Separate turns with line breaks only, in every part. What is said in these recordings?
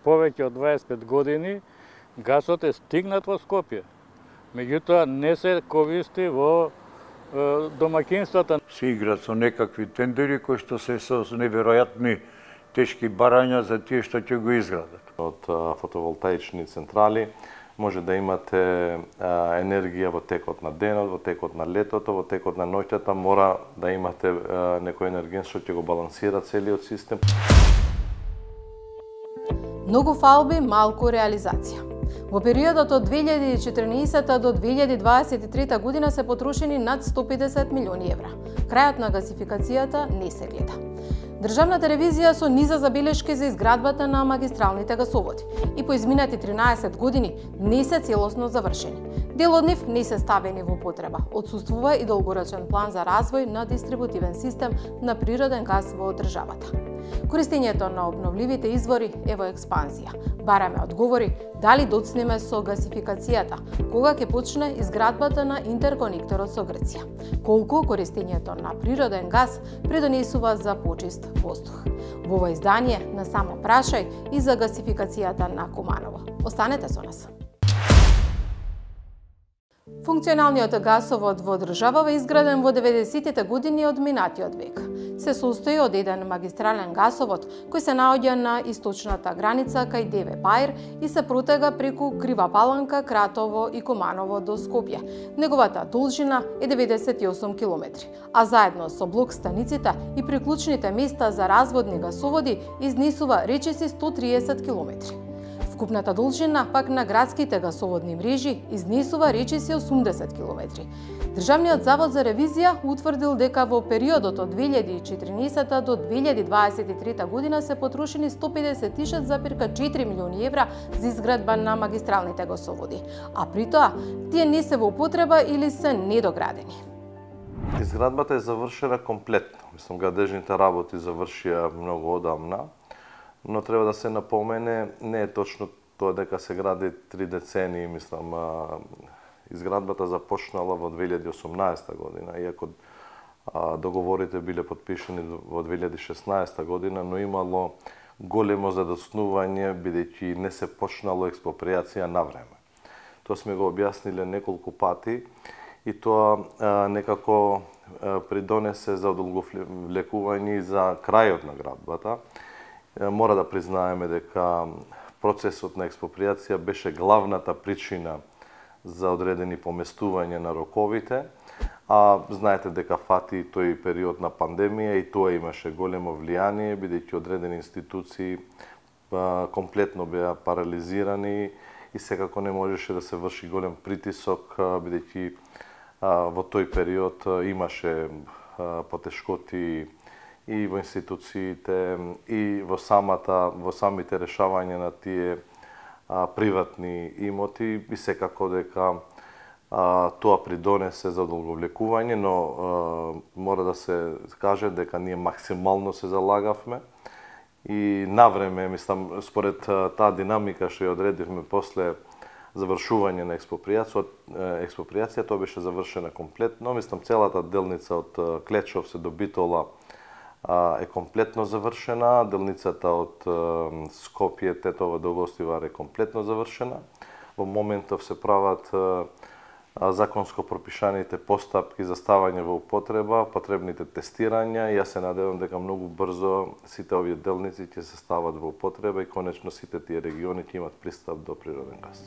повеќе од 25 години гасот е стигнат во Скопје. Меѓутоа не се користи во домаќинствата.
Се играат со некакви тендери кои што се со неверојатни тешки барања за тие што ќе го изградат.
Од фотоволтаични централи може да имате енергија во текот на денот, во текот на летото, во текот на ноќта, мора да имате некој енерген што ќе го балансира целиот систем.
Многу фалби, малку реализација. Во периодот од 2014 до 2023 година се потрошени над 150 милиони евра. Крајот на гасификацијата не се гледа. Државната ревизија со низа забелешки за изградбата на магистралните гасоводи и по изминати 13 години не се целосно завршени. Дел од нив не се ставени во потреба. Отсуствува и долгорочен план за развој на дистрибутивен систем на природен газ во државата. Користењето на обновливите извори е во експанзија. Бараме одговори дали доцнеме со гасификацијата, кога ќе почне изградбата на интерконекторот со Грција. Колку користењето на природен газ предонесува за почист воздух. Во ова издание на Само прашај и за гасификацијата на Куманово. Останете со нас. Функционалниот гасовод во државава изграден во 90-тите години од минатиот век. Се состои од еден магистрален гасовод кој се наоѓа на источната граница кај Деве Баир и се протега преку Крива Паланка, Кратово и Куманово до Скопје. Неговата должина е 98 километри, а заедно со блок станиците и приклучните места за разводни гасоводи изнесува речиси 130 километри. Вкупната должина пак на градските гасоводни мрежи изнесува речиси 80 километри. Државниот завод за ревизија утврдил дека во периодот од 2014 до 2023 година се потрошени 156,4 милиони евра за изградба на магистралните гасоводи, а при тоа тие не се во употреба или се недоградени.
Изградбата е завршена комплетно. Мислам, градежните работи завршија многу одамна. Но треба да се напомене, не е точно тоа дека се гради 3 децении, мислам, изградбата започнала во 2018 година, иако договорите биле подпишани во 2016 година, но имало големо задоснување бидејќи не се почнало експроприација на време. Тоа сме го објасниле неколку пати и тоа некако придонесе за одолговлекување за крајот на градбата. Мора да признаеме дека процесот на експроприација беше главната причина за одредени поместување на роковите, а знаете дека фати тој период на пандемија и тоа имаше големо влијание, бидејќи одредени институции комплетно беа парализирани и секако не можеше да се врши голем притисок, бидејќи во тој период имаше потешкоти и во институциите, и во самите решавања на тие приватни имоти, и секако дека тоа придонесе за одолговлекување, но мора да се каже дека ние максимално се залагавме и навреме, мислам, според таа динамика што ја одредивме после завршување на експроприација, тоа беше завршена комплетно. Мислам, целата делница од Клечов се до Битола е комплетно завршена, делницата од Скопје, Тетово до Гостивар е комплетно завршена. Во моментов се прават законско пропишаните постапки за ставање во употреба, потребните тестирања и јас се надевам дека многу брзо сите овие делници ќе се стават во употреба и конечно сите тие региони ќе имат пристап до природен газ.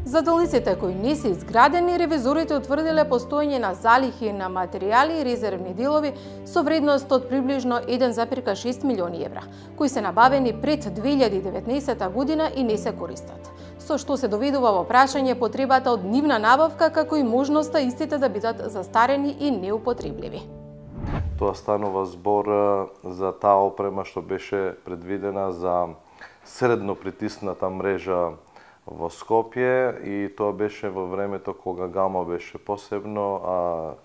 За делниците кои не се изградени, ревизорите утврдиле постоење на залихи на материјали и резервни делови со вредност од приближно 1,6 милиони евра, кои се набавени пред 2019 година и не се користат. Со што се доведува во прашање потребата од нивна набавка, како и можноста истите да бидат застарени и неупотребливи.
Тоа станува збор за таа опрема што беше предвидена за средно притисната мрежа во Скопје и тоа беше во времето кога Гамо беше посебно,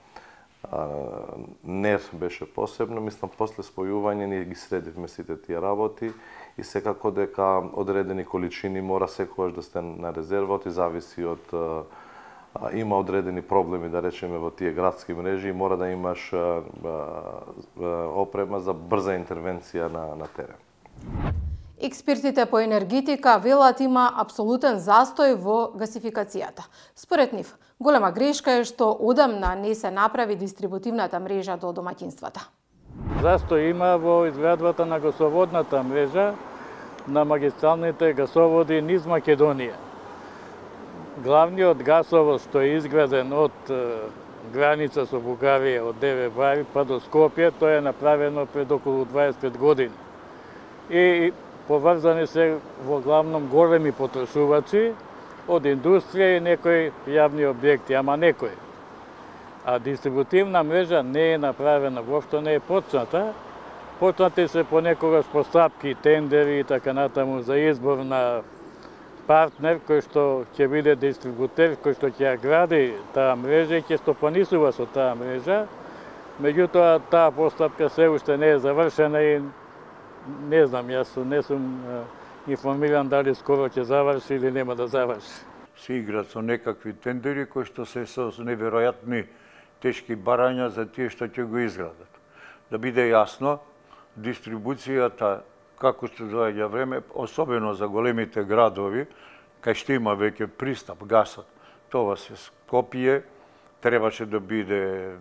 НЕР беше посебно. Мислам, после спојување ние ги средивме сите тие работи и секако дека одредени количини мора секогаш да сте на резервот и зависи од има одредени проблеми, да речеме, во тие градски мрежи и мора да имаш опрема за брза интервенција на терен.
Експертите по енергетика велат има апсолутен застој во гасификацијата. Според нив, голема грешка е што одамна не се направи дистрибутивната мрежа до домаќинствата.
Застој има во изградбата на гасоводната мрежа на магистралните гасоводи низ Македонија. Главниот гасовод што е изграден од граница со Бугарија од Деве Бари па до Скопје, тоа е направено пред околу 25 години. И поврзани се во главном големи потрошувачи од индустрија и некои јавни објекти, ама некои. А дистрибутивна мрежа не е направена, воопшто не е почната. Почнати се понекогаш постапки, тендери и така натаму за избор на партнер кој што ќе биде дистрибутер, кој што ќе ја гради таа мрежа и ќе стопанисува со таа мрежа. Меѓутоа, таа постапка се уште не е завршена и не знам, јас не сум информиран дали скоро ќе заврши или нема да заврши.
Се играат со некакви тендери кои што се со неверојатни тешки барања за тие што ќе го изградат. Да биде јасно, дистрибуцијата како што доаѓа време, особено за големите градови, кај што има веќе пристап гасот, тоа се Скопје, требаше да биде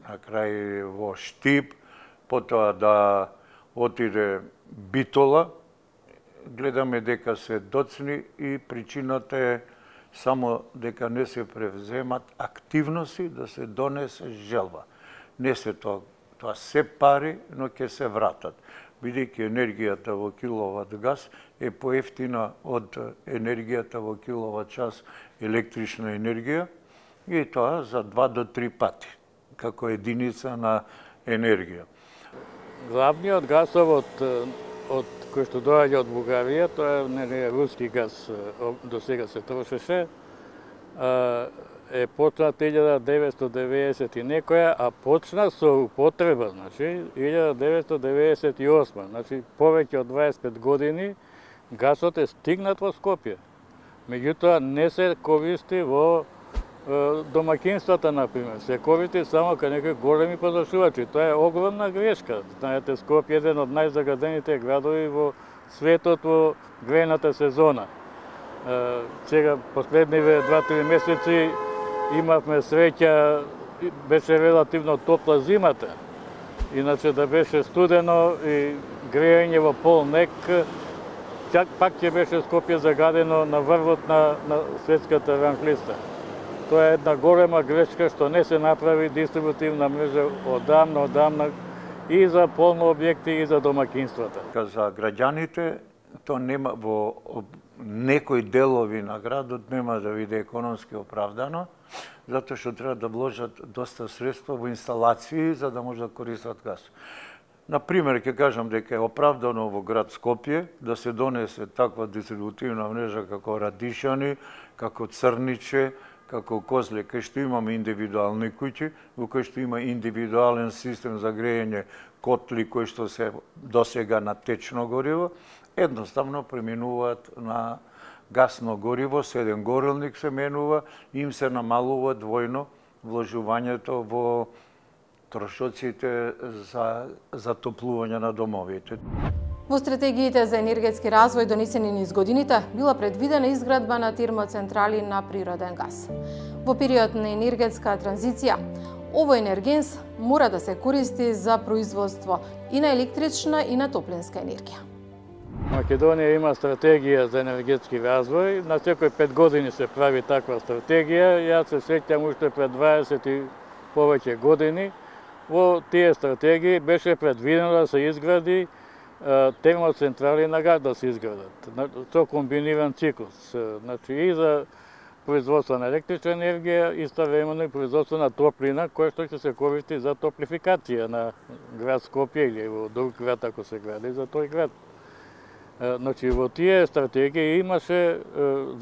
на крај во Штип, потоа да отиде Битола. Гледаме дека се доцни и причината е само дека не се превземат активности да се донесе желба. Не се тоа се пари, но ќе се вратат. Бидејќи енергијата во киловат газ е поевтина од енергијата во киловат час електрична енергија и тоа за 2 до 3 пати како единица на енергија.
Главниот гасовод од кој што доаѓа од Бугарија, тоа е руски газ, до сега се трошеше, е почнат 1990 и некоја, а почна со употреба, значи 1998, значи повеќе од 25 години гасот е стигнат во Скопје. Меѓутоа не се користи во домаќинствата, например, се користи само кај некои големи потрошувачи. Тоа е огромна грешка. Знаете, Скопје е еден од најзагадените градови во светот во грејната сезона. Сега, последниве 2-3 месеци, имавме среќа, беше релативно топла зимата. Иначе да беше студено и грејање во полнек, пак ќе беше Скопје загадено на врвот на светската ранглиста. Тоа е една голема грешка што не се направи дистрибутивна мрежа одамна и за полно објекти и за домаќинствата.
За граѓаните, то нема во некои делови на градот нема да биде економски оправдано, затоа што треба да вложат доста средства во инсталации за да може да користат газ. Например, ќе кажам дека е оправдано во град Скопје да се донесе таква дистрибутивна мрежа како Радишани, како Црниче, како Козле, кај што имаме индивидуални куќи, во кој што има индивидуален систем за грејење, котли кои што се досега на течно гориво, едноставно преминуваат на гасно гориво, седен горелник се менува, им се намалува двојно вложувањето во трошоците за затоплување на домовите.
Во стратегиите за енергетски развој донесени низ годините била предвидена изградба на термоцентрали на природен газ. Во период на енергетска транзиција, овој енергенс мора да се користи за производство и на електрична и на топлинска енергија.
Македонија има стратегија за енергетски развој, на секој 5 години се прави таква стратегија. Јас се сеќам уште пред 20 и повеќе години, во тие стратегии беше предвидено да се изгради термоцентрали на газ да се изградат, со комбиниран циклус. Значи и за производство на електрична енергија, истовремено и производство на топлина, која што ќе се користи за топлификација на град Скопје или во друг град ако се гради за тој град. Значи во тие стратегии имаше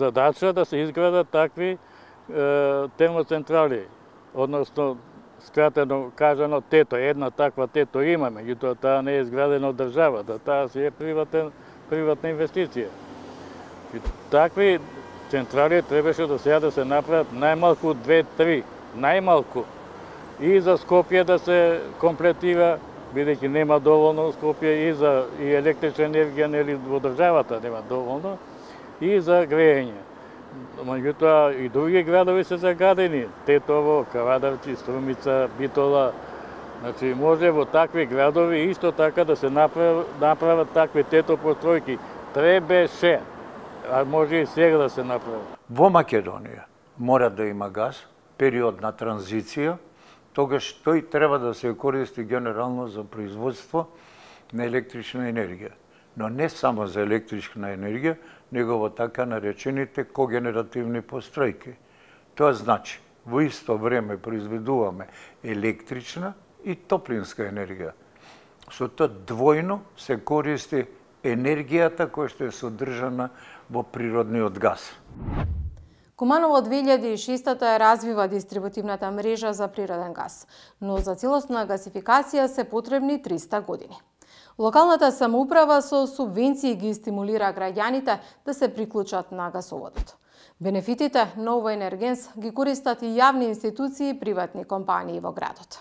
задача да се изградат такви термоцентрали, односно скратено кажано тето, една таква тето имаме, меѓутоа таа не е изградена од државата, таа си е приватна инвестиција. И такви централи требаше до сега да се направат најмалку 2-3, најмалку. И за Скопје да се комплетира, бидејќи нема доволно Скопје и за електрична енергија, нели во државата нема доволно, и за грејење. Меѓутоа и други градови се заградени, Тетово, Кавадарци, Струмица, Битола. Значи може во такви градови исто така да се направат такви тетопостројки. Требеше, а може и сега да се направи.
Во Македонија мора да има газ, период на транзиција, тогаш тој треба да се користи генерално за производство на електрична енергија. Но не само за електрична енергија, него во така наречените когенеративни постројки. Тоа значи, во исто време произведуваме електрична и топлинска енергија. Со тоа двојно се користи енергијата која што е содржана во природниот газ.
Куманово од 2006 развива дистрибутивната мрежа за природен газ, но за целосна гасификација се потребни 300 години. Локалната самоуправа со субвенции ги стимулира граѓаните да се приклучат на гасоводот. Бенефитите на овој енергенс ги користат и јавни институции и приватни компании во градот.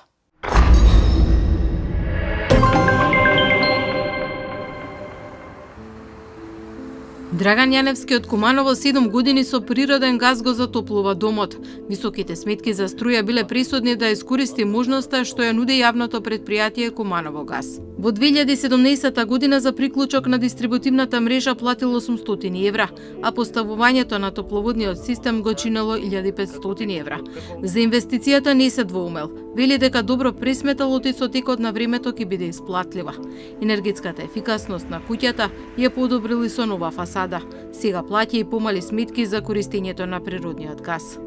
Драган Јаневски од Куманово 7 години со природен газ го затоплува домот. Високите сметки за струја биле присудни да искористи можноста што ја нуди јавното предпријатие Куманово газ. Во 2017 година за приклучок на дистрибутивната мрежа платил 800 евра, а поставувањето на топловодниот систем го чинело 1500 евра. За инвестицијата не се двоумел. Вели дека добро пресметал и со текот на времето ќе биде исплатлива. Енергетската ефикасност на куќата ја подобрили со нова фасада. Сега плаќа и помали сметки за користењето на природниот газ.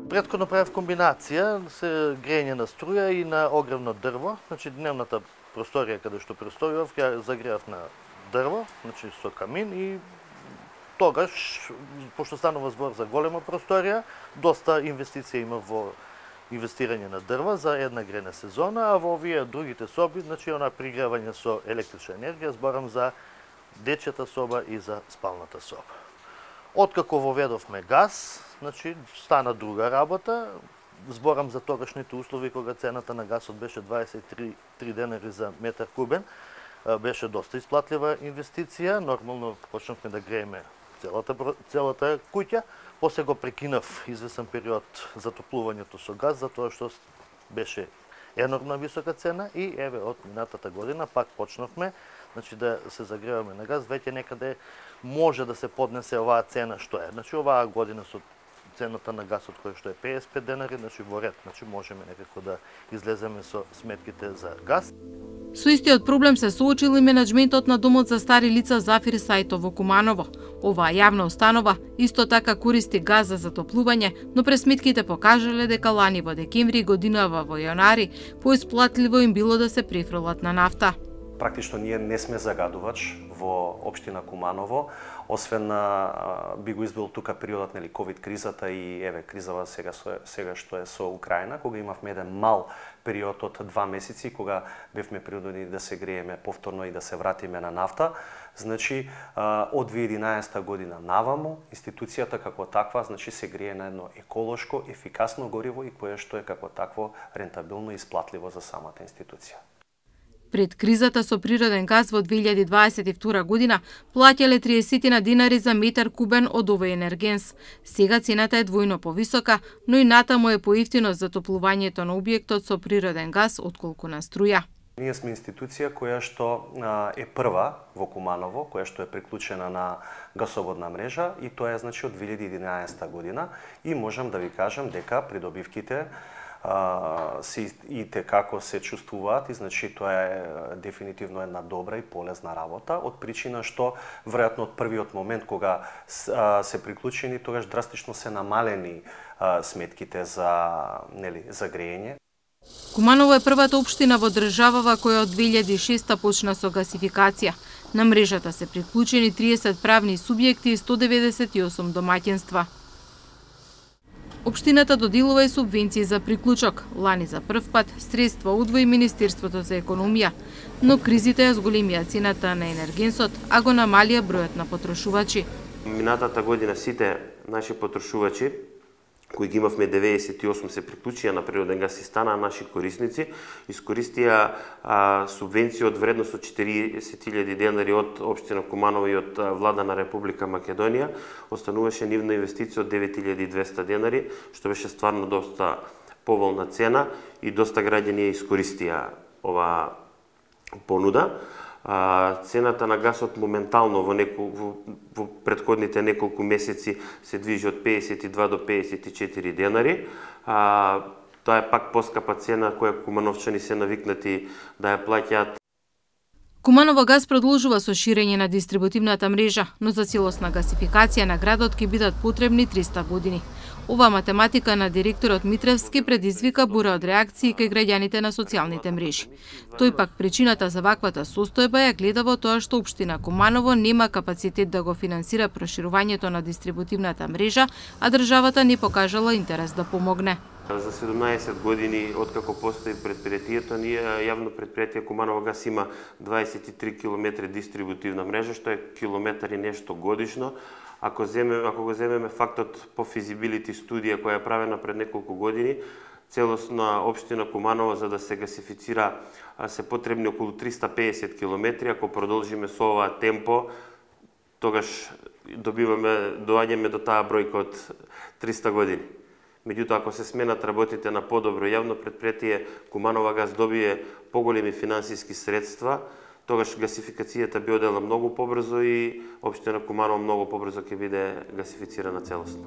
Претходно правев комбинација се грејење на струја и на огревно дрво. Значи дневната просторија каде што престојував, ја загреав на дрво, значи со камин и тогаш, пошто станува збор за голема просторија, доста инвестиција има во инвестирање на дрва за една грена сезона, а во овие другите соби, значи она пригревање со електрична енергија, зборам за дечјата соба и за спалната соба. Откако воведовме газ, значи стана друга работа. Зборам за тогашните услови кога цената на газот беше 23 денари за метар кубен, беше доста исплатлива инвестиција. Нормално почнавме да грееме целата куќа. После го прекинав извесен период затоплувањето со газ, затоа што беше енормна висока цена и еве од минатата година пак почнавме, значи да се загреваме на газ, веќе некаде може да се поднесе оваа цена што е. Значи оваа година со цената на газот која што е 55 денари, значи во ред, значи можеме некако да излеземе со сметките за газ.
Со истиот проблем се соочил и менаџментот на домот за стари лица Зафир Сајто во Куманово. Оваа јавна установа исто така користи газ за затоплување, но пресметките покажале дека лани во декември годинава во јанари поисплатливо им било да се префрлат на нафта.
Практично ние не сме загадувач во општина Куманово, освен би го избил тука периодот нели ковид кризата и еве кризава сега што е со Украина, кога имавме еден мал период од 2 месеци кога бевме принудени да се грееме повторно и да се вратиме на нафта. Значи од 2011 година наваму институцијата како таква значи се грее на едно еколошко, ефикасно гориво и кое што е како такво рентабилно и исплатливо за самата институција.
Пред кризата со природен газ во 2022 година плаќале 30 динари за метар кубен од овој енергенс. Сега цената е двојно повисока, но и натаму е поевтино затоплувањето на објектот со природен газ отколку на струја.
Ние сме институција која што е прва во Куманово, која што е приклучена на гасоводна мрежа и тоа е значи од 2011 година и можам да ви кажам дека придобивките и како се чувствуваат и значи тоа е дефинитивно една добра и полезна работа од причина што веројатно од првиот момент кога се приклучени тогаш драстично се намалени сметките за грејење.
Куманово е првата општина во државава која од 2006 почна со гасификација. На мрежата се приклучени 30 правни субјекти и 198 домаќинства. Општината доделува и субвенции за приклучок. Лани за прв пат средства удвои Министерството за економија, но кризите ја зголемија цената на енергенсот, а го намалија бројот на потрошувачи.
Минатата година сите наши потрошувачи кои ги имавме 98 се приклучија на природен газ и станаа наши корисници, искористија субвенција од вредност од 40.000 денари од општина Куманово и од влада на Република Македонија, остануваше нивна инвестиција од 9.200 денари, што беше стварно доста поволна цена и доста граѓани ја искористија ова понуда. Цената на гасот моментално во претходните неколку месеци се движи од 52 до 54 денари. Тоа е пак поскапа цена која кумановчани се навикнати да ја плаќаат.
Куманово газ продолжува со ширење на дистрибутивната мрежа, но за целосна гасификација на градот ќе бидат потребни 300 години. Ова математика на директорот Митревски предизвика бура од реакции кај граѓаните на социјалните мрежи. Тој пак причината за ваквата состојба ја гледа во тоа што општина Куманово нема капацитет да го финансира проширувањето на дистрибутивната мрежа, а државата не покажала интерес да помогне.
За 17 години откако постои предпријатието, ние јавно предпријатие Куманово газ има 23 км дистрибутивна мрежа, што е километар и нешто годишно. Ако го земеме фактот по физибилити студија која е правена пред неколку години, целосна општина Куманово за да се гасифицира се потребни околу 350 км. Ако продолжиме со оваа темпо, тогаш доаѓаме до таа бројка од 300 години. Меѓутоа, ако се сменат работите на подобро јавно предпријатие, Куманово газ добие поголеми финансиски средства, тогаш гасификацијата би одела многу побрзо и општина Куманово многу побрзо ќе биде гасифицирана целосно.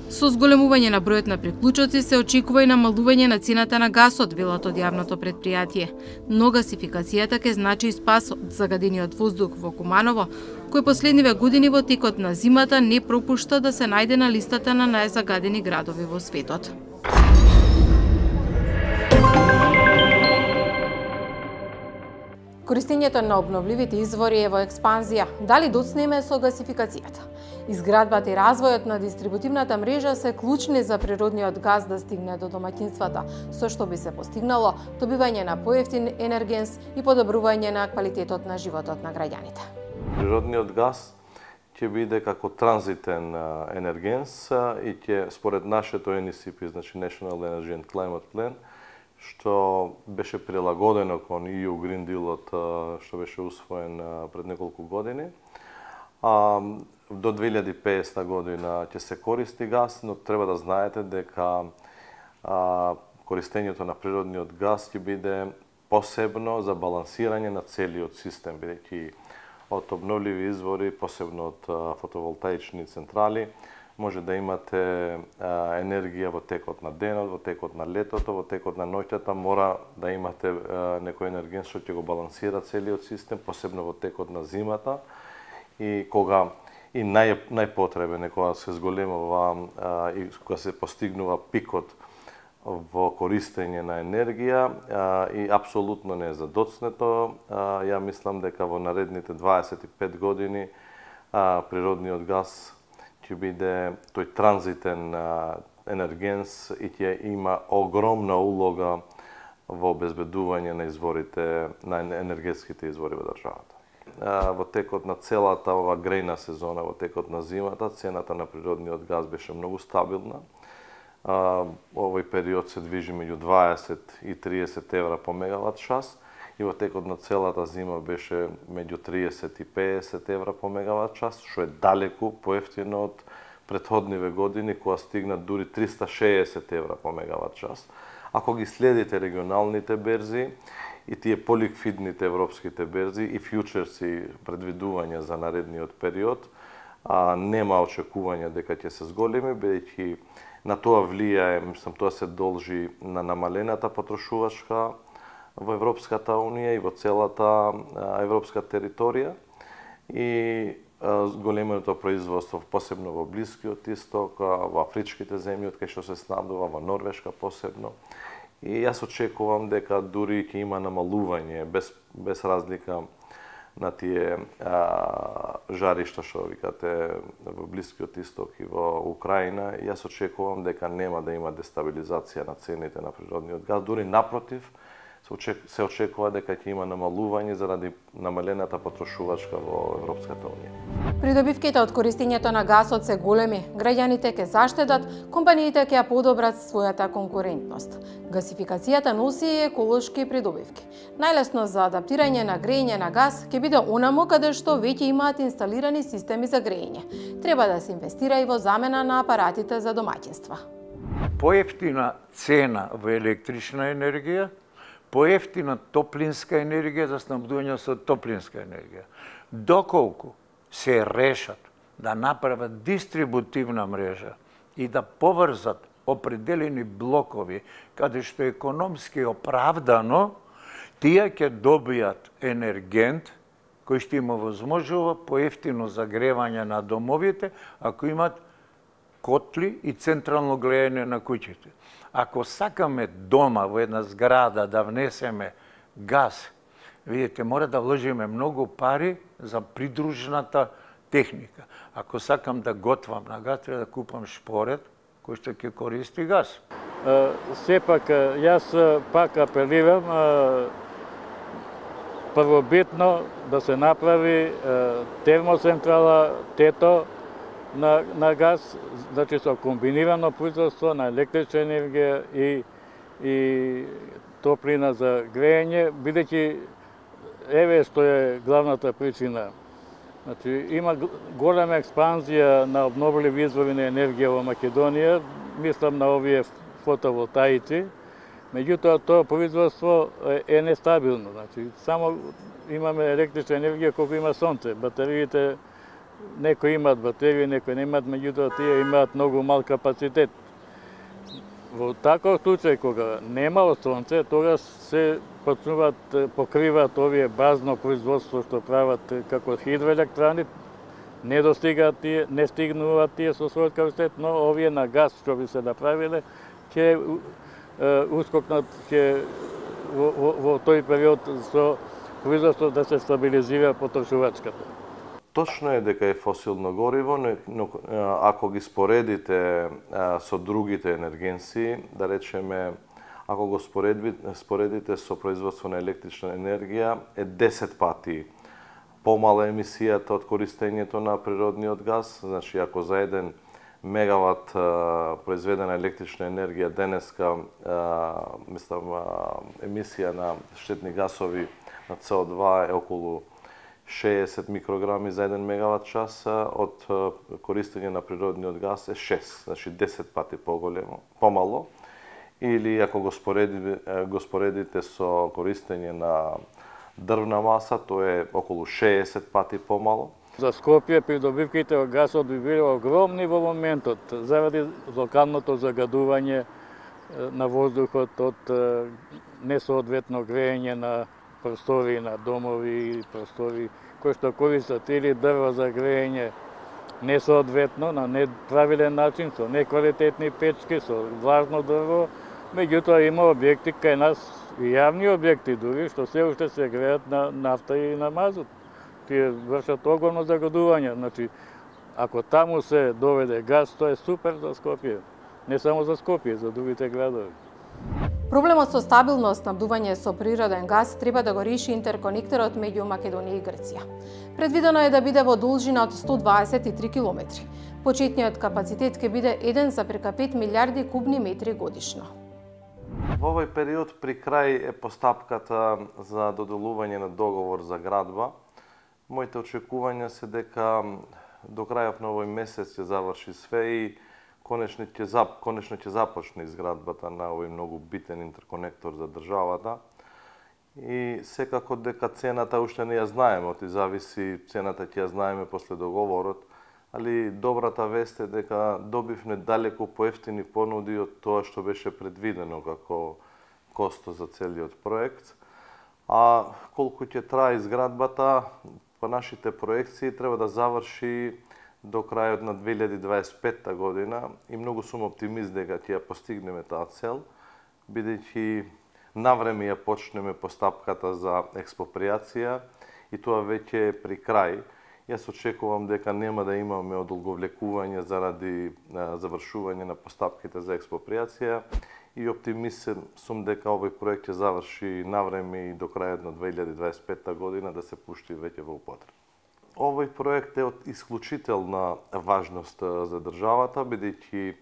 Со зголемување на бројот на приклучоци се очекува и намалување на цената на гасот, велат од јавното предпријатие. Но гасификацијата ќе значи и спас од загадениот воздух во Куманово, кој последниве години во текот на зимата не пропушта да се најде на листата на најзагадени градови во светот. Користењето на обновливите извори е во експанзија. Дали доцнеме со гасификацијата? Изградбата и развојот на дистрибутивната мрежа се клучни за природниот газ да стигне до домаќинствата, со што би се постигнало добивање на поевтин енергенс и подобрување на квалитетот на животот на граѓаните.
Природниот газ ќе биде како транзитен енергенс и ќе според нашето NECP, значи National Energy and Climate Plan, што беше прилагодено кон EU Green Deal-от што беше усвоен пред неколку години. До 2050 година ќе се користи газ, но треба да знаете дека користењето на природниот газ ќе биде посебно за балансирање на целиот систем, бидејќи од обновливи извори, посебно од фотоволтаични централи, може да имате енергија во текот на денот, во текот на летото, во текот на ноќта, мора да имате некој енерген што ќе го балансира целиот систем, посебно во текот на зимата и кога и најпотребен е кога се зголемува и кога се постигнува пикот во користење на енергија и апсолутно не е задоцнето. Ја мислам дека во наредните 25 години природниот газ ќе биде тој транзитен енергенс и ќе има огромна улога во обезбедување на изворите, на енергетските извори во државата. Во текот на целата ова грејна сезона, во текот на зимата, цената на природниот газ беше многу стабилна. Овој период се движи меѓу 20 и 30 евра по мегават час и во текот на целата зима беше меѓу 30 и 50 евра по мегават час, што е далеку поевтино од претходниве години, кога стигна дури 360 евра по мегават час. Ако ги следите регионалните берзи и тие поликвидните европските берзи и фјучерси предвидувања за наредниот период, нема очекување дека ќе се зголеми, бидејќи на тоа влијае, мислам, тоа се должи на намалената потрошувачка во Европската Унија и во целата европска територија и големото производство, посебно во Блискиот Исток, во афричките земји, од кај што се снабдува, во Норвешка посебно. И јас очекувам дека дури ќе има намалување, без разлика на тие жаришта што викате во Блискиот Исток и во Украина, јас очекувам дека нема да има дестабилизација на цените на природниот газ, дури напротив, се очекува дека ќе има намалување заради намалената потрошувачка во Европската Унија.
Придобивките од користењето на гасот се големи, граѓаните ќе заштедат, компаниите ќе ја подобрат својата конкурентност. Гасификацијата носи и еколошки придобивки. Најлесно за адаптирање на грејење на газ ќе биде онаму каде што веќе имаат инсталирани системи за грејење. Треба да се инвестира и во замена на апаратите за домаќинства.
Поевтина цена во електрична енергија, поевтина топлинска енергија за снабдување со топлинска енергија. Доколку се решат да направат дистрибутивна мрежа и да поврзат определени блокови каде што економски оправдано, тие ќе добијат енергент кој што има возможува поевтино загревање на домовите, ако имат котли и централно гледање на куќите. Ако сакаме дома во една зграда да внесеме газ, видите, мора да вложиме многу пари за придружната техника. Ако сакам да готвам на газ, треба да купам шпоред кој што ќе користи газ.
Сепак, јас пак апелирам првобитно да се направи термоцентрала ТЕТО на газ, значи со комбинирано производство на електрична енергија и топлина за грејење, бидејќи еве што е главната причина. Значи, има голема експанзија на обновливи извори на енергија во Македонија, мислам на овие фотоволтаици, меѓутоа тоа производство е нестабилно. Значи, само имаме електрична енергија колку има сонце. Батериите, некои имаат батерии, некои немаат, меѓутоа тие имаат многу мал капацитет. Во таков случај, кога нема сонце, тогаш се покриваат овие базно производство што прават како хидроелектрани, не стигнуваат тие со својот капацитет, но овие на газ што би се направиле, ќе ускокнат во тој период со производство да се стабилизира потрошувачката.
Точно е дека е фосилно гориво, но ако ги споредите со другите енергенси, да речеме, ако го споредите со производство на електрична енергија, е 10 пати помала емисијата од користењето на природниот газ. Значи, ако за 1 мегават произведена електрична енергија денеска, мислам, емисија на штетни гасови на СО2 е околу 60 микрограми за 1 мегават час, од користење на природниот газ е 6, значи 10 пати помало. Или ако го споредите со користење на дрвна маса, тоа е околу 60 пати помало.
За Скопје придобивките од гасот би биле огромни во моментот, заради локалното загадување на воздухот од несоодветно грејење на простори на домови и простори кои што користат или дрво за грејење несоодветно, на неправилен начин, со неквалитетни печки, со влажно дрво. Меѓутоа има објекти кај нас, и јавни објекти дури, што се уште се греат на нафта и на мазут. Тие вршат огромно загадување. Значи, ако таму се доведе газ, тоа е супер за Скопје. Не само за Скопје, за другите градови.
Проблемот со стабилно снабдување со природен газ треба да го реши интерконекторот меѓу Македонија и Грција. Предвидено е да биде во должина од 123 километри. Почетниот капацитет ќе биде 1,5 милиарди кубни метри годишно.
Во овој период при крај е постапката за доделување на договор за градба. Моите очекувања се дека до крајот на овој месец ќе заврши све и конечно ќе започне изградбата на овој многу битен интерконектор за државата. И секако дека цената уште не ја знаеме, оти зависи, цената ќе ја знаеме после договорот, али добрата вест е дека добивме далеку поевтини понуди од тоа што беше предвидено како косто за целиот проект. А колку ќе трае изградбата, по нашите проекции треба да заврши до крајот на 2025 година и многу сум оптимист дека ќе ја постигнеме таа цел, бидејќи навреме ја почнеме постапката за експроприација и тоа веќе е при крај. Јас очекувам дека нема да имаме одолговлекување заради завршување на постапките за експроприација и оптимист сум дека овој проект ќе заврши навреме и до крајот на 2025 година да се пушти веќе во употреба. Овој проект е од исклучителна важност за државата, бидејќи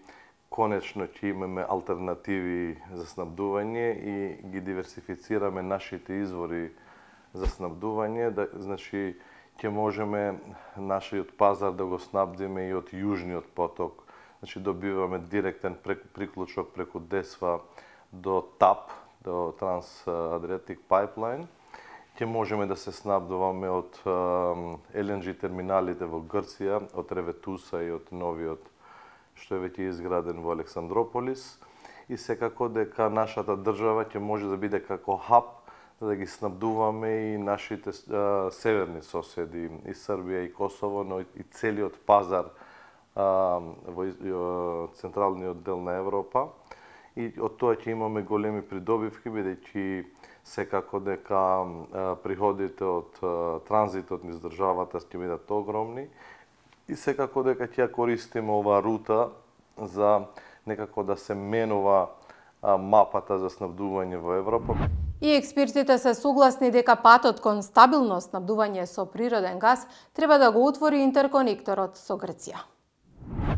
конечно ќе имаме алтернативи за снабдување и ги диверсифицираме нашите извори за снабдување, значи ќе можеме нашиот пазар да го снабдиме и од јужниот поток. Значи добиваме директен приклучок преку Десва до ТАП, до Trans-Adriatic Pipeline. Ќе можеме да се снабдуваме од LNG терминалите во Грција, од Реветуса и од новиот што е веќе изграден во Александрополис. И секако дека нашата држава ќе може да биде како хаб за да ги снабдуваме и нашите северни соседи, и Србија, и Косово, но и целиот пазар во централниот дел на Европа. И од тоа ќе имаме големи придобивки, бидејќи секако дека приходите од транзитот низ државата ќе бидат огромни и секако дека ќе користиме оваа рута за некако да се менува мапата за снабдување во Европа.
И експертите се согласни дека патот кон стабилно снабдување со природен газ треба да го отвори интерконекторот со Грција.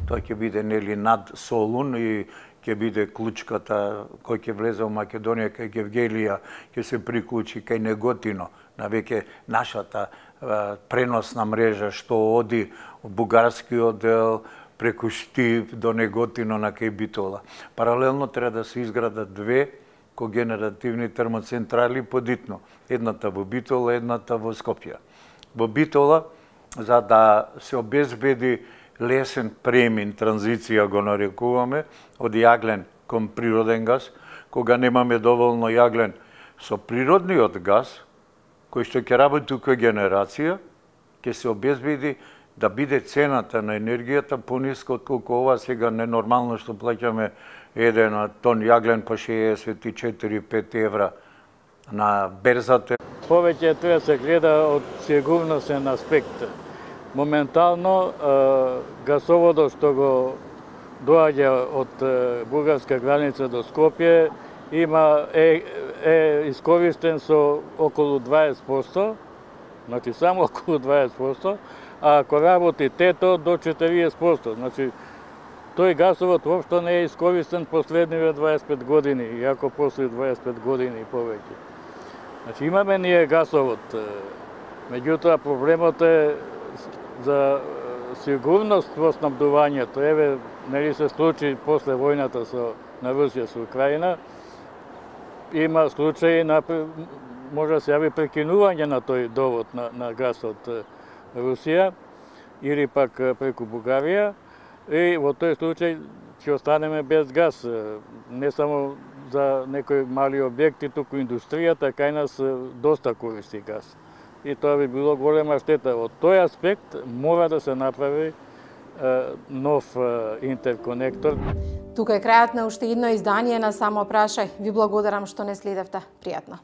Тоа ќе биде нели над Солун и ќе биде клучката кој ќе влезе во Македонија кај Гевгелија, ќе се приклучи кај Неготино, на веќе нашата преносна мрежа што оди од бугарскиот дел преку Штип до Неготино на кај Битола. Паралелно треба да се изградат две когенеративни термоцентрали подитно. Едната во Битола, едната во Скопје. Во Битола, за да се обезбеди лесен премин, транзиција го нарекуваме, од јаглен кон природен газ, кога немаме доволно јаглен со природниот газ, кој што ќе работи когенерација, ќе се обезбеди да биде цената на енергијата пониска отколку ова сега ненормално што плаќаме еден тон јаглен по 64-5 евра на берзата.
Повеќе треба се гледа од сигурносен аспект. Моментално гасоводот што го доаѓа од бугарска граница до Скопје е искористен со околу 20%, значи само околу 20%, а ако работи тето до 40%. Значи, тој гасовод воопшто не е искористен последниве 25 години, иако после 25 години и повеќе. Значи, имаме ние гасовод, меѓутоа проблемот е за сигурност во снабдувањето. Еве, нели се случаи после војната на Русија со Украина, има случаи може да се јави прекинување на тој довод на газ од Русија или пак преку Бугарија, и во тој случај ќе останеме без газ, не само за некои мали објекти, туку индустријата кај нас доста користи газ. И тоа би било голема штета. Од тој аспект мора да се направи нов интерконектор.
Тука е крајот на уште едно издание на Само прашај. Ви благодарам што не следевте. Пријатно.